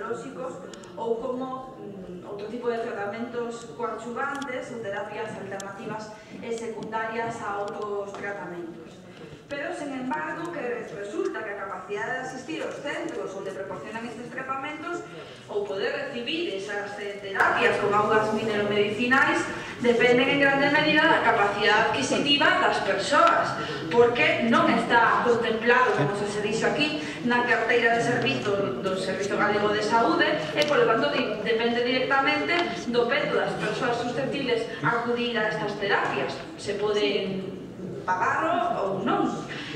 farmacolóxicos ou como outro tipo de tratamentos coadjuvantes ou terapias alternativas e secundarias a outros tratamentos. Pero, sen embargo, que resulta que a capacidade de asistir aos centros onde proporcionan estes tratamentos ou poder recibir esas terapias con augas mineromedicinais dependen en grande medida da capacidade adquisitiva das persoas, porque non está contemplado, como se dixo aquí, na carteira de servizos do Servizo Galego de Saúde e, polo tanto, depende directamente do peto das persoas susceptibles a acudir a estas terapias. Se poden pagarlo ou non.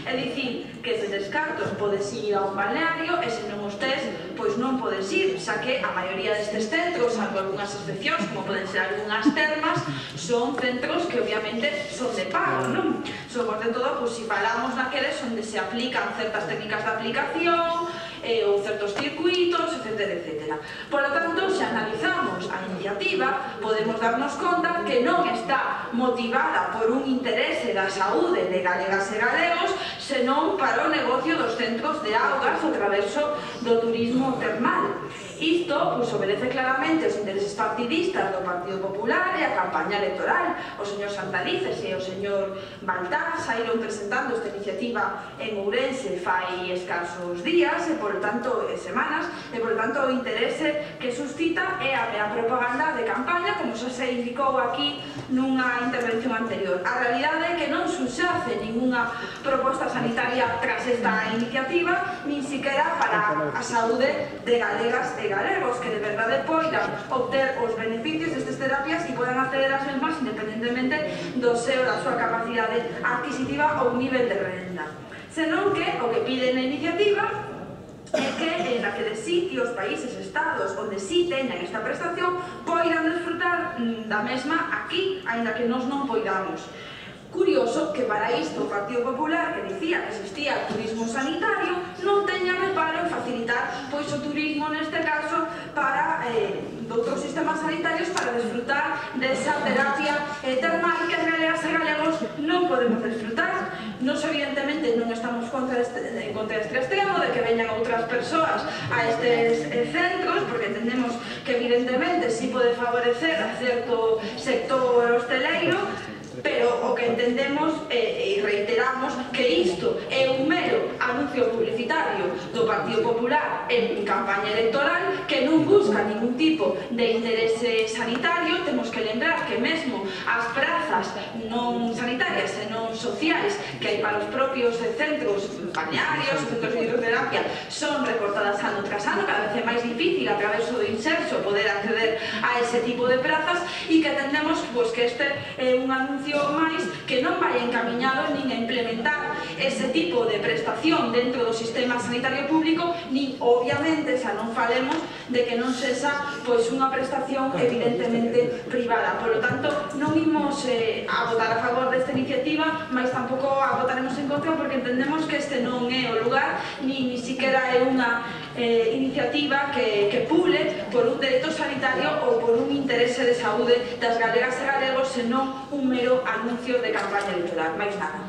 É dicir, que se descartos podes ir a un balneario e se non os tes, pois non podes ir, xa que a maioría destes centros, salvo algunhas excepcións, como poden ser algunhas termas, son centros que obviamente son de pago, non? Sobre todo, pois, se falamos naqueles onde se aplican certas técnicas de aplicación ou certos circuitos, etc. Por lo tanto, se analizamos a iniciativa, podemos darnos conta que non está motivada por un interese da saúde de galegas e galegos, senón para o negocio dos centros de augas ao traverso do turismo termal. Isto, pois, obedece claramente os intereses partidistas do Partido Popular e a campaña electoral. O señor Santalices e o señor Baltar saíron presentando esta iniciativa en Ourense fai escasos días e, por tanto, semanas, e, por tanto, o interese que suscita é a propaganda de campaña, como xa se indicou aquí nunha intervención anterior. A realidade é que non subxace ninguna proposta sanitaria tras esta iniciativa, nin siquiera para a saúde de galegas e galegos, que de verdade poidan obter os beneficios destas terapias e podan acceder ás mesmas independentemente da súa capacidade adquisitiva ou nivel de renda. Senón que o que pide na iniciativa é que en aqueles sitios, países, estados onde si teñan esta prestación poidan desfrutar da mesma aquí, aínda que nós non poidamos. Curioso que para isto o Partido Popular, que dicía que existía turismo sanitario, non teña reparo en facilitar pois o turismo, neste caso, para outros sistemas sanitarios para desfrutar desa terapia termal que as galegas e galegos non podemos desfrutar. Nos, evidentemente, non estamos contra este extremo de que veñan outras persoas a estes centros, porque entendemos que, evidentemente, si pode favorecer a certo sector hosteleiro, pero o que entendemos e reiteramos que isto é un mero anuncio publicitario do Partido Popular en campaña electoral que non busca ningún tipo de interese sanitario. Temos que lembrar que mesmo as prazas non sanitarias senón sociais que hai para os propios centros balnearios, centros de hidroterapia, son recortadas ano tras ano. Cada vez é máis difícil a través do inserso poder acceder a ese tipo de prazas e que entendemos que este é un anuncio máis que non vai encamiñado nin a implementar ese tipo de prestación dentro do sistema sanitario público, nin, obviamente, xa non falemos de que non sexa unha prestación evidentemente privada. Por lo tanto, non imos a votar a favor desta iniciativa, mas tampouco a votaremos en contra, porque entendemos que este non é o lugar, ni siquiera é unha iniciativa que pule por un dereito sanitario ou por un interese de saúde das galegas e galegos, senón un mero anuncio de campaña electoral, máis nada.